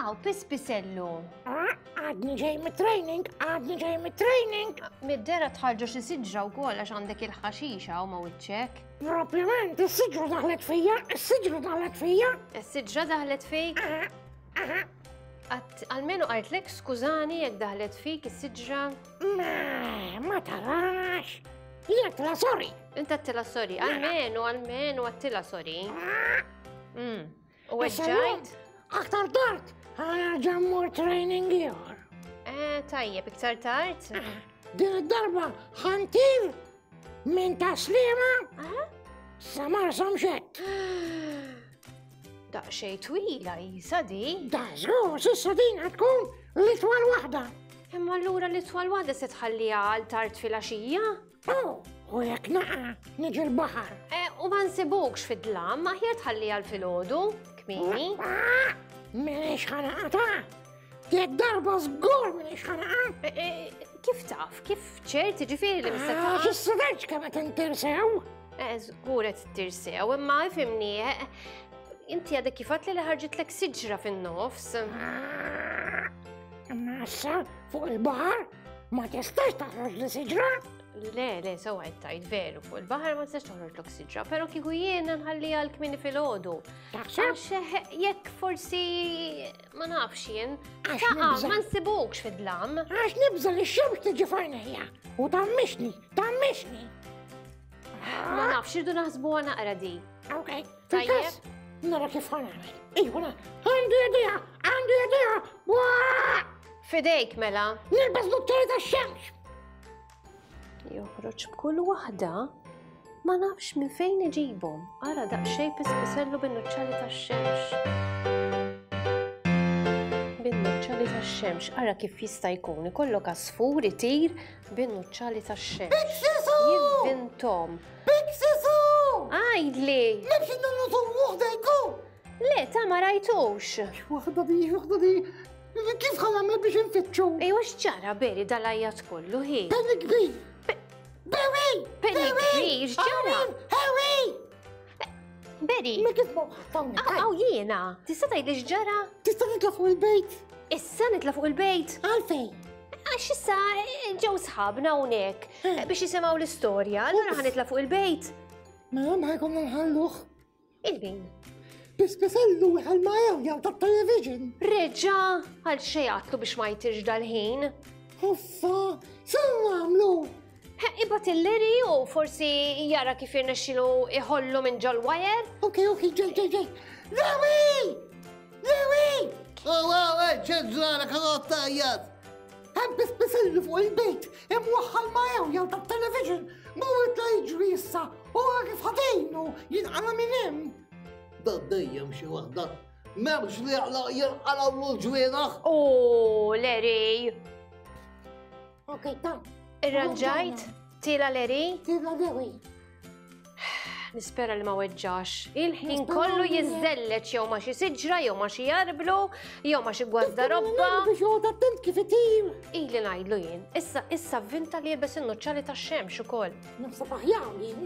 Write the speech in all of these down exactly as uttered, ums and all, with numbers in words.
Aw, Pispisellu. Għadni ġej mit-training, għadni ġej mit-training. Mid-dera tħarġu xi siġra wkoll għax għandek il-ħaxixa u ma wiċċek. Propjament, is-siġra daħlet fija, is-siġra daħlet fija. Is-siġra daħlet fik? Almenu qaltlek skużani jekk daħlet fik is-siġra. Ma, ma tarax. Jien għedtilha sorry. Inta għedtilha sorry, almenu, almenu għedtilha sorry. U weġġajt? Aktar tard, ħa nerġa' mmur training ieħor. Eh, tajjeb, iktar tard? Din id-darba ħa ntir minn Tas-Sliema sa Marsamxett. Daqsxejn twila jisa di. Da żgur, s'issa din ħa tkun l-itwal waħda. Imma allura l-itwal waħda se tħalliha għal tard filgħaxija? Oh, u jekk naqa' niġi l-baħar. Eh, u ma nsibukx fid-dlam, aħjar tħalliha għal filgħodu, kmieni. M'iniex ħa naqa' ta'. Din id-darba żgur m'iniex ħa naqa'. Kif taf? Kif ċert ġifieri li mista taqa'? Għax is-sideġ kemm qed intir sew. Żgur qed ittir sew, imma ifhimni, inti għadek kif għedtli li ħarġitlek siġra fin-nofs. Imma issa fuq il-baħar ma tistax toħroġ li siġra. Le, le, sew qed tgħid veru, fuq il-baħar ma tistax toħroġlok siġra, però kieku jiena nħalliha għal kmieni filgħodu. Taħseb? Għax jekk forsi ma nafx jien, Għax taqa' nibża'. ma nsibukx fid-dlam. Għax nibża' li x-xemx tiġi f'għajnejja u tammixni, tammixni. Ma nafx, irdu naħsbuha naqra di. Ok, Tajjeb. fil-każ, nara kif ħa nagħmel. Iva, għandi idea, għandi idea. Waa! Fidejk mela. Nilbes nuċċali tax-xemx. Joħroġ b'kull waħda, ma nafx minn fejn iġibhom. Ara daqsxejn Pispisellu bin-nuċċali tax-xemx. Bin-nuċċali tax-xemx, ara kif jista' jkun ikollok għasfur itir bin-nuċċali tax-xemx. Biksisu! Jivvintom. Biksisu! Għajdli! Nemxi nagħmlu waħda jkun! Le, ta' ma rajtux. Waħda di, waħda di. Kif ħa nagħmel biex nfittxu? Ejwa x'ġara Beri dal-għajat kollu hi? Penny kbir! Berry! Penny kbir, x'ġara? Harry! Beri! Ma kif ma ħattawni? Aw jiena, tista' tgħidli x'ġara? Tista' nitla' fuq il-bejt? Issa nitla' fuq il-bejt? Għalfejn? Għax issa ġew sħabna hawnhekk biex jisimgħu l-istorja, allura ħa nitla' fuq il-bejt. Ma ma jkollna nħalluh. Il-min? Pispisellu għal ma jew tat-television. Reġa' għal xejn għatlu biex ma jtirx dal-ħin. Uffa, se nagħmlu? Ibgħat il-Leri u forsi jara kif jirnexxilu iħollu minn ġol wire. Ok, ok, ġej, ġej, ġej. Lewi! Lewi! Oh, wow, ċeġġara karotta għajjat. Hemm Pispisellu fuq il-bejt, imwaħħal ma jew jew tat-television. Mhu la jiġri issa, u kif ħadejnu jinqala minn hemm. Da dejjem xi waħda. M'hemmx li jinqalgħu l-ġwienaħ. Oh, Leri. Ok, ta. Irranġajt? Tila Leri? Tila Lewi. Nispera li ma weġġax. Il-ħin Nispera kollu li le. jiżelleġ jew ma xi siġra, jew ma xi jarblu, jew ma xi gwardarobba. Biex joqgħod attent kif itir. Ili ngħidlu jien. Issa issa vinta li jilbes in-nuċċali tax-xemx ukoll. Naħseb aħjar jien.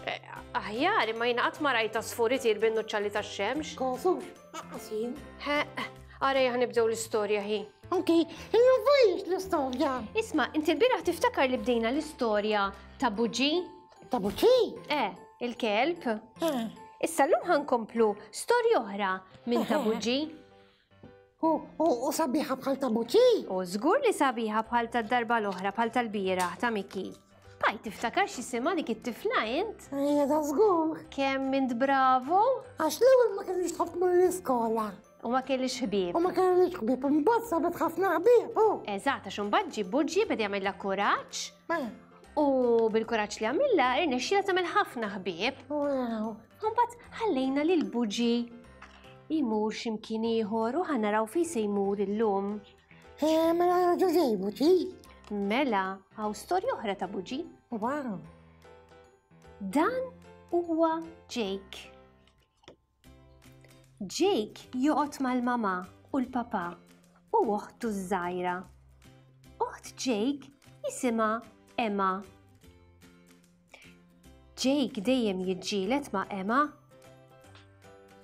Eh, Aħjar, imma jiena qatt ma rajt għasfur itir bin-nuċċali tax-xemx. Kosux, aqqas jien. He, ara ejja nibdew l-istorja hi. Ok, illum fiex l-istorja. Isma', inti l-bieraħ tiftakar li bdejna l-istorja ta' Buġi? Ta' Buġi? Eh, il-kelb. Eh. Issa llum ħa nkomplu storja oħra minn ta' Buġi. U, u, u sabiħa bħal ta' Buġi? U żgur li sabiħa bħal ta' darba l-oħra, bħal tal-bieraħ ta' Miki. Baj, tiftakar x'jisimha dik it-tifla int? Ejja, da żgur. Kemm int bravo? Għax l-ewwel ma kellix tħobb tmur l-iskola. U ma kellix ħbieb. U ma kellix ħbieb, imbagħad sabet ħafna ħbieb. u. Eżatt, għax imbagħad ġie Buġi beda jagħmilha kuraġġ. Ma. U bil-kuraġġ li għamilha irnexxielha tagħmel ħafna ħbieb. Wow. Imbagħad ħallejna lil Buġi jmur x'imkien ieħor u ħa naraw fejn se jmur illum. Eh, mela ġej ġej Buġi. Mela, hawn storja oħra ta' Buġi. Wow. Dan huwa Jake. Jake joqgħod mal-mama u l-papa u oħtu ż-żgħira. Oħt Jake jisimha Emma. Jake dejjem jiġġieled ma' Emma.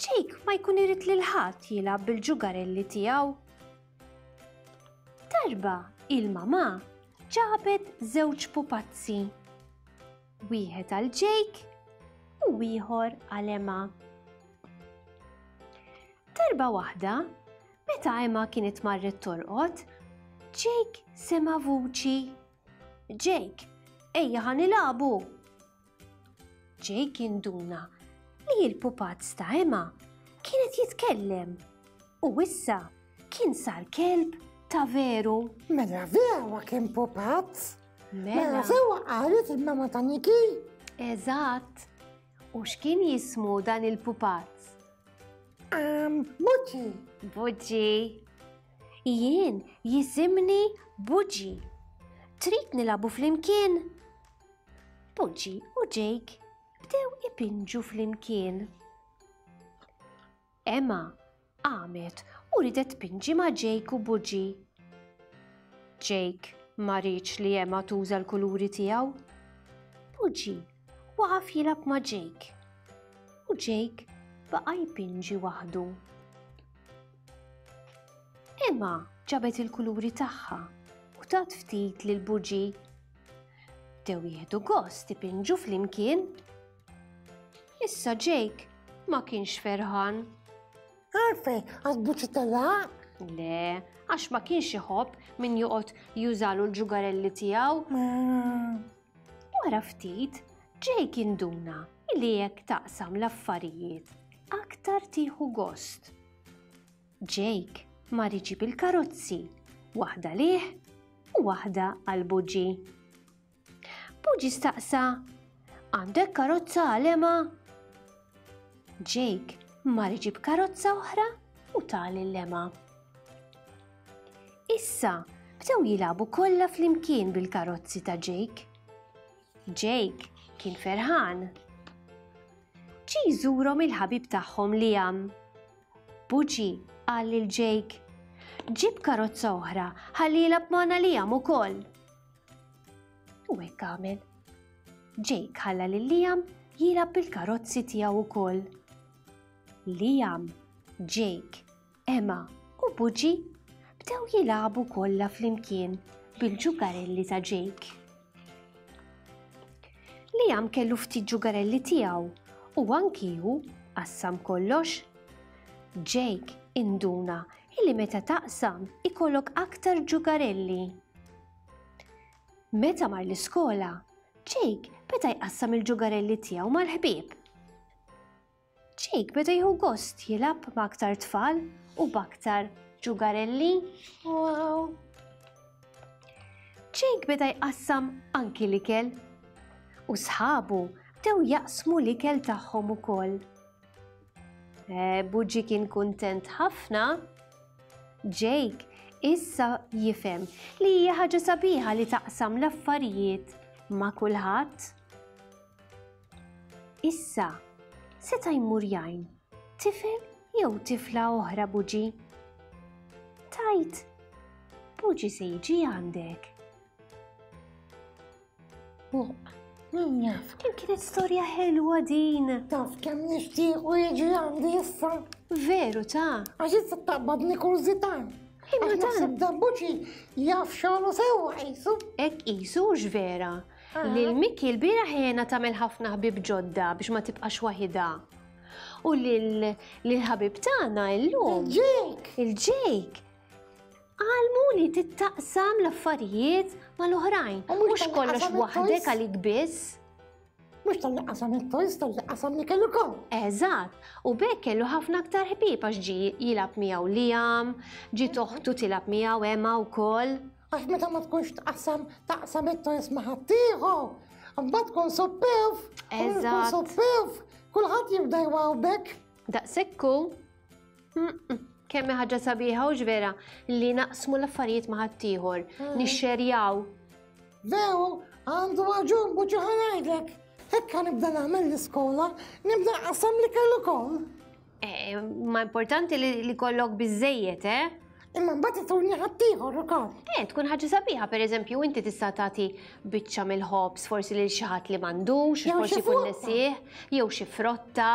Jake ma jkun irid lil ħadd jilgħab bil-ġugarelli tiegħu. Darba il-mama ġabet żewġ pupazzi. Wieħed għal Jake u ieħor għal Emma. Darba waħda, meta Emma kienet marret torqod, Jake sema vuċi. Jake, ejja ħa nilagħbu. Jake induna li l-pupazz ta' Emma kienet jitkellem u issa kien sar kelb ta' veru. Mela vera kien pupazz. Mela sewa qalet il-mama ta' Niki. Eżatt. U x'kien jismu dan il-pupazz? Um, Buġi. Buġi. Jien jisimni Buġi. Trid nilagħbu flimkien? Buġi u Jake bdew ipinġu flimkien. Emma qamet u ridet tpinġi ma' Jake u Buġi. Jake ma riedx li Emma tuża l-kuluri tiegħu. Buġi waqaf jilgħab ma' Jake. U Jake baqa' jpinġi waħdu. Emma ġabet il-kuluri tagħha u tat ftit lil Buġi. Bdew jieħdu gost ipinġu flimkien. Issa Jake ma kienx ferħan. Għalfejn, għax Buġi telaq? Le, għax ma kienx iħobb min joqgħod jużalu l-ġugarelli tiegħu. Wara ftit, Jake induna li jekk taqsam l-affarijiet aktar tieħu gost. Jake mar iġib il-karozzi, waħda lih u waħda għal Buġi. Buġi staqsa, għandek karozza għal Emma? Jake mar iġib karozza oħra u ta lil Emma. Issa bdew jilagħbu kollha flimkien bil-karozzi ta' Jake. Jake kien ferħan. Ġie jżurhom il-ħabib tagħhom Liam. Buġi qal lil Jake, ġib karozza oħra ħalli jilgħab magħna Liam ukoll. U hekk għamel. Jake ħalla lil Liam jilgħab bil-karozzi tiegħu wkoll. Liam, Jake, Emma u Buġi bdew jilagħbu kollha flimkien bil-ġugarelli ta' Jake. Liam kellu ftit ġugarelli tiegħu u anki hu qassam kollox. Jake induna illi meta taqsam ikollok aktar ġugarelli. Meta mar l-iskola, Jake beda jqassam il-ġugarelli tiegħu mal-ħbieb. Jake beda jieħu gost jilgħab ma' aktar tfal u b'aktar ġugarelli. Wow. Jake beda jqassam anki l-ikel u sħabu bdew jaqsmu l-ikel tagħhom ukoll. E, Buġi kien kuntent ħafna. Jake issa jifhem li hija ħaġa sabiħa li taqsam l-affarijiet ma' kulħadd. Issa seta' jmur jgħin tifel jew tifla oħra Buġi. Tajt, Buġi se jiġi għandek. Min jaf? Kemm kienet storja ħelwa din. Taf kemm nixtiequ jiġi għandi issa. Veru ta' Għax issa taqbadni kurżità. Imma Għax dan- naħseb dan Buġi jaf xogħlu sewwa qisu. Hekk qisu hux vera. Lil Miki l-bieraħ ħena tagħmel ħafna ħbieb ġodda biex ma tibqax waħidha. U lil ħabib tagħna illum. Il-Jake! Il-Jake. Għalmu li tittaqsam l-affarijiet mal-oħrajn. U mhux Mhux tal-li kollox qasam waħdek it-toys. għalik biss. Mhux talli qasam it-toys, talli qasam li kellu kol. Eżatt, u b'hekk kellu ħafna aktar ħbieb għax ġie jilgħab miegħu Liam, ġiet oħtu tilgħab miegħu Emma wkoll. Għax meta ma tkunx tqassam taqsam it-toys ma' ħaddieħor. Mbagħad tkun supperv. U tkun Eżatt. supperv. Kulħadd jibda jwawbek. Daqshekk hu. Mm-mm. Kemm hi ħaġa sabiħa u vera li naqsmu l-affarijiet ma' ħaddieħor, nixxerjaw. Veru, għandu raġun Buġi ħa ngħidlek. Hekk nibda nagħmel l-iskola, nibda nqassam li kellu kol. Eh, ma importanti li, li kollok biżejjed, eh? Imma mbagħad ituni ħaddieħor ukoll. Eh, tkun ħaġa sabiħa, per eżempju, inti tista' tagħti biċċa mill-ħobż forsi lil xi ħadd li m'għandux, Jew forsi xi jkun frotta. nesih, jew xi frotta.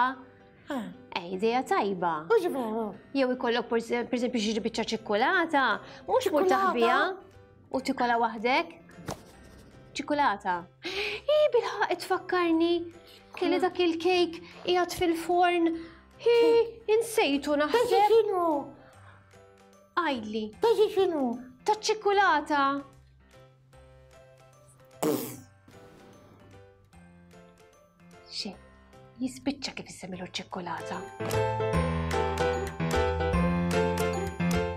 Eh, idea tajba. Mhux veru. Jew ikollok per eżempju xi biċċa ċikkulata, mhux mur taħbiha u tikola waħdek. Ċikkulata. Hi, bilħaq tfakkarni kelli dak il-kejk qiegħed fil-forn. Hi, insejtu naħseb. Ta' x'inhu? Għidli. Ta' x'inhu? Ta' ċikkulata. Xi, jispiċċa kif issemmilu ċikkulata.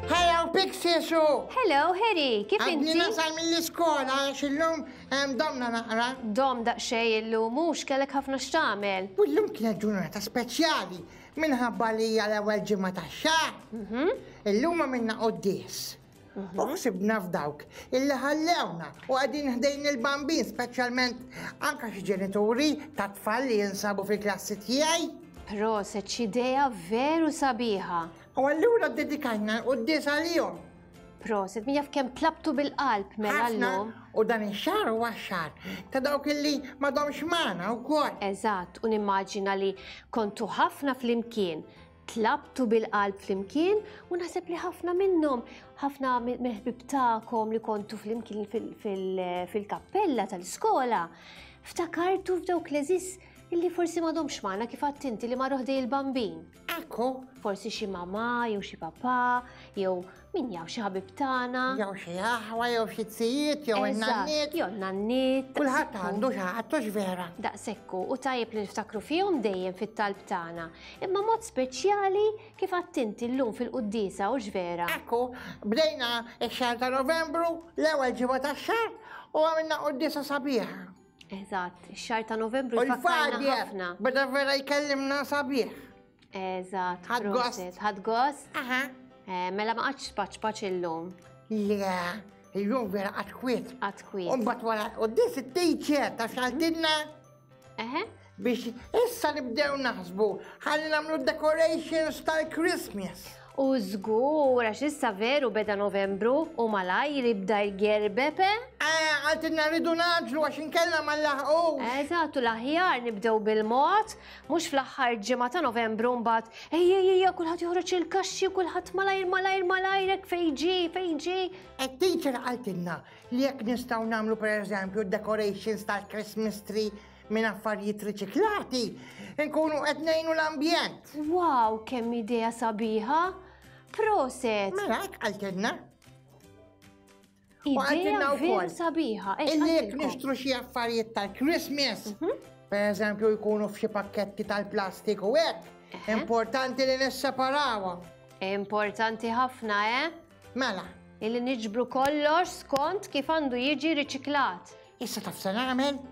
Hello, Pixie Sue! Hello, Harry, kif Għadni inti? nasal mill-iskola għax illum hemm domna naqra. Dom daqsxejn illum mhux kellek ħafna x'tagħmel. U llum kienet ġurnata speċjali minħabba li hija l-ewwel ġimgħa tax-xahar. Illum għamilna quddies. U ħsibna f'dawk illi ħallewna u qegħdin ħdejn il-bambin, speċjalment anke xi ġenituri ta' tfal li jinsabu fil-klassi tiegħi. Proset, x'idea veru sabiħa. U allura ddedikajna l-quddies għalihom. Proset, min jaf kemm tlabtu bil-qalb mela Ħafna, llum. u dan ix-xahar huwa x-xahar ta' dawk illi m'għadhomx magħna wkoll. Eżatt, u nimmaġina li kontu ħafna flimkien, tlabtu bil-qalb flimkien u naħseb li ħafna minnhom, ħafna mill-ħbieb tagħkom li kontu flimkien fil-kappella tal-iskola, ftakartu f'dawk l-eżis illi forsi m'għadhomx magħna kif għedt inti li marru ħdej il-bambin. Ekku. Forsi xi mamà jew xi papà jew min jaf xi ħabib tagħna. Jew xi aħwa jew xi tzijiet jew in-nanniet. Jew nanniet. Kulħadd għandu xi ħadd hux vera. Daqshekk u tajjeb li niftakru fihom dejjem fit-talb tagħna. Imma mod speċjali kif għedt inti llum fil-quddiesa hux vera. Ekku, bdejna x-xahar ta' Novembru, l-ewwel ġimgħa tax-xahar u għamilna quddiesa sabiħa. Eżatt, ix-xahar ta' Novembru U jfakkarna l-Fadjer ħafna. beda vera jkellimna sabiħ. Eżatt, Ħadd gost. proset. Ħadd gost? Aha. Eh, mela ma qgħadx paċ paċ illum. Le, illum vera qatt kwiet. Qatt kwiet. U mbagħad wara quddies it-teacher ta' xaltilna Eħe. biex issa nibdew naħsbu ħalli nagħmlu decorations tal-Christmas. U żgur, għax issa veru beda Novembru u malajr jibda jgerbepe. Eh, għaltilna rridu naġlu għax inkella ma nlaħqux. Eżatt, u l-aħjar nibdew bil-mod, mhux fl-aħħar ġimgħa ta' Novembru mbagħad ejja ejja kulħadd joħroġ il-kaxxi, kulħadd malajr malajr malajr hekk fejn ġie, fejn ġie. It-teacher qaltilna li jekk nistgħu nagħmlu pereżempju decorations tal-Christmas tree minn affarijiet riċiklati, nkunu qed ngħinu l-ambjent. Wow, kemm idea sabiħa! Proset! Mela hekk qaltilna. Idea qaltilna veru wkoll sabiħa. Ex Illi jekk qaltilkom? nixtru xi affarijiet tal-Christmas, per eżempju jkunu f'xi pakketti tal-plastik u hekk, importanti li nisseparawhom. Importanti ħafna, eh? Mela. Illi niġbru kollox skont kif għandu jiġi riċiklat. Issa taf se nagħmel?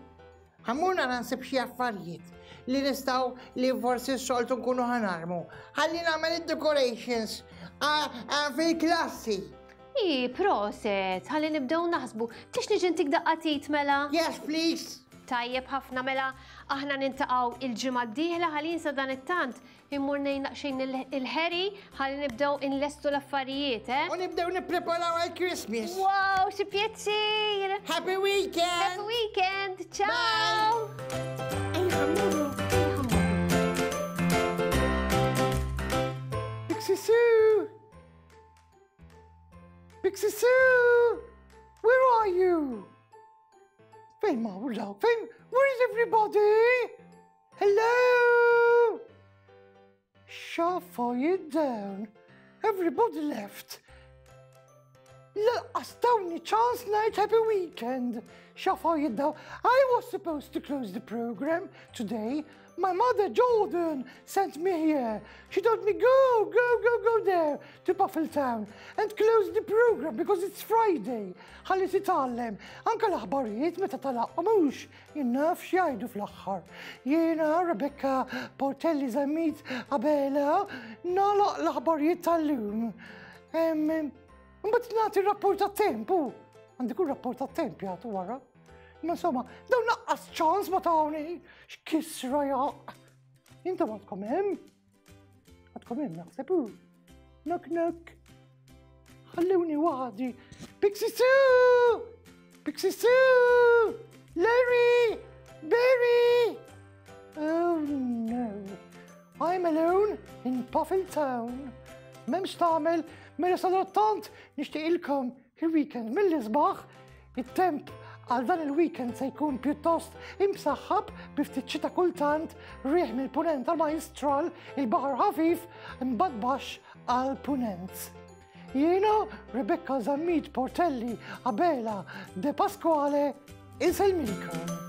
Ħa mmur nara nsib xi affarijiet li nistgħu li forsi s-soltu nkunu ħanarmu. Ħalli nagħmel id-decorations fil-klassi. I, proset, ħalli nibdew naħsbu. Tix niġi ntik daqqatit mela? Yes, please. Tajjeb ħafna mela, aħna nintaqgħu il-ġimgħa d-dieħla ħalli sa dan it-tant immur ngħin naqxejn il-Harry ħalli nibdew inlestu l-affarijiet, eh? U nibdew nippreparaw għal-Christmas. Wow, xi pjaċir! Happy weekend! Happy weekend! Ciao! Ejja, mmorru. Pixie Sue! Pixie Sue! Where are you? Fejn marru daw? Fejn? Where is everybody? Hello? X'affarijiet dawn. Everybody left. Lanqas tawni ċans ngħid happy weekend. X'affarijiet dawn. I was supposed to close the program today. My mother, Jordan, sent me here. She told me, go, go, go, go there to Puffletown and close the program because it's Friday. Ħalli titgħallem. Anka l-aħbarijiet meta talaqqa mhux jien naf x'jgħidu fl-aħħar. Jiena Rebecca Portelli Zammit Abela nagħlaq l-aħbarijiet tal-lum. Mbagħad nagħti r-rapport tat-temp. Għandi kull rapport tat-temp jagħtu wara. Ma insomma, dawn lanqas ċans ma tawni, x'kisra jaq. Intom għadkom hemm? Għadkom hemm naħseb hu. Knock knock. Ħallewni waħdi. Pixie Sue! Pixie Sue! Larry! Barry! Oh no. I'm alone in Puffin Town. M'hemmx x'tagħmel, mela sadattant nixtieqilkom il-weekend mill-isbaħ, it-temp għal dan il-weekend se jkun pjuttost imsaħħab bi ftit xita kultant, riħ mill-punent għal majstral, il-baħar ħafif, imbagħad baxx għal punent. Jiena Rebecca Zammit Portelli Abela De Pasquale insellmilkom.